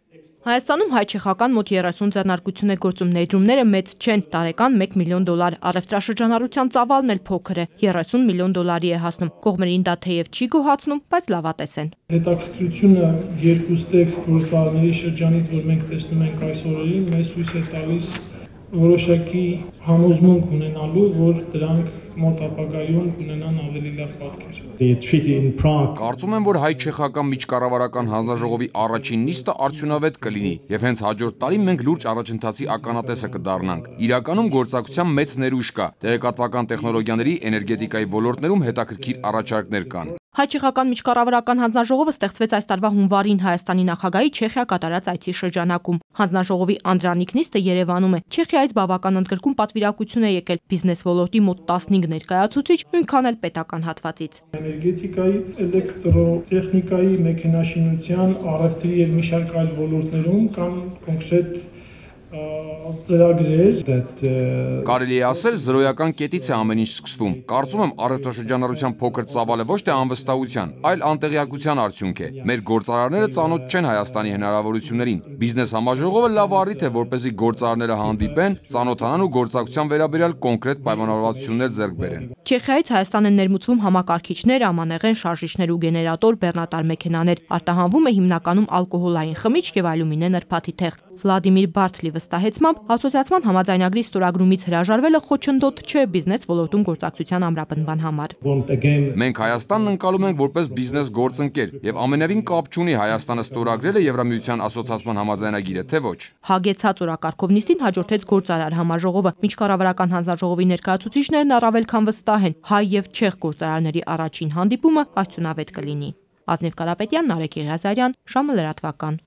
Հայաստանում հայ-չեխական մոտ 30 ձեռնարկություն է գործում, ներդրումները մեծ չեն, տարեկան 1 միլիոն դոլար, առևտրաշրջանառության ծավալն էլ փոքր է, 30 միլիոն դոլարի է հասնում, կողմերին դա թեև չի գոհացնում, բայց լավատես են։ Հետաքրքրությունը երկուստեք գործարարների շրջանից, որ մենք տեսնում ենք այս օրերին, մեզ հույս է տալիս որոշակի համոզմունք ունենալու, որ դրանք մոտ ապագայում կունենան ավելի լավ պատկեր։ Կարծում եմ, որ հայ-չեխական միջկառավարական հանձնաժողովի առաջին նիստը արդյունավետ կլինի, եւ հենց հաջորդ տարի մենք լուրջ առաջընթացի ականատեսը կդառնանք։ Իրականում գործակցության մեծ ներուժ կա, տեղեկատվական տեխնոլոգիաների, էներգետիկայի ոլորտներում հետաքրքիր առաջարկներ կան։ Հայ-չեխական միջկառավարական հանձնաժողովը ստեղծվեց այս տարվա հունվարին Հայաստանի նախագահի Չեխիա կատարած այցի շրջանակում։ Հանձնաժողովի անդրանիկ նիստը Երևանում է։ Չեխիայից բավական ընդգրկուն պատվիրակություն է եկել բիզնես ոլորտի մոտ 15 ներկայացուցիչ, նույնքան էլ պետական հատվածից։ Էներգետիկայի, էլեկտրոտեխնիկայի, մեքենաշինության, առևտրի եւ մի շարք այլ ոլորտներում կան կոնկրետ ծրագրեր։ Կարելի է ասել, զրոյական կետից է ամեն ինչ սկսվում։ Կարծում եմ, առևտրաշրջանառության փոքր ծավալը ոչ թե անվստահության, այլ անտեղյակության արդյունք է։ Մեր գործարարները ծանոթ չեն Հայաստանի հնարավորություններին։ Բիզնես համաժողովը լավ առիթ է, որպեսզի գործարարները հանդիպեն, ծանոթանան ու գործակցության վերաբերյալ կոնկրետ պայմանավորվածություններ ձեռք բերեն։ Չեխիայից Հայաստան են ներմուծվում համակարգիչներ, ամանեղեն, շարժիչներ ու գեներատոր, բեռնատար մեքենաներ։ Արտահանվում է հիմնականում ալկոհոլային խմիչք եւ ալյումինե նրբաթի թեղ։ Վլադիմիր Բարթլի վստահեցմամբ ասոցիացիան համաձայնագրի ստորագրումից հրաժարվելը խոչընդոտ չէ բիզնես ոլորտում գործակցության ամրապնդման համար։ Մենք Հայաստանն ընկալում ենք որպես բիզնես գործընկեր եւ ամենևին կապ չունի Հայաստանը ստորագրել է Եվրամիության ասոցիացիան համաձայնագիրը, թե ոչ։ Հագեցած օրակարգով նիստին հաջորդեց գործարար համաժողովը։ Միջկառավարական հանձնաժողովի ներկայացուցիչներն առավել քան վստահ են, հայ եւ չեխ գործարարների առաջին հանդիպումը արդյունավետ կլինի։ Ազնիվ Կարապետյան, Նարեկ Եղիազարյան, Ժամը լրատվական։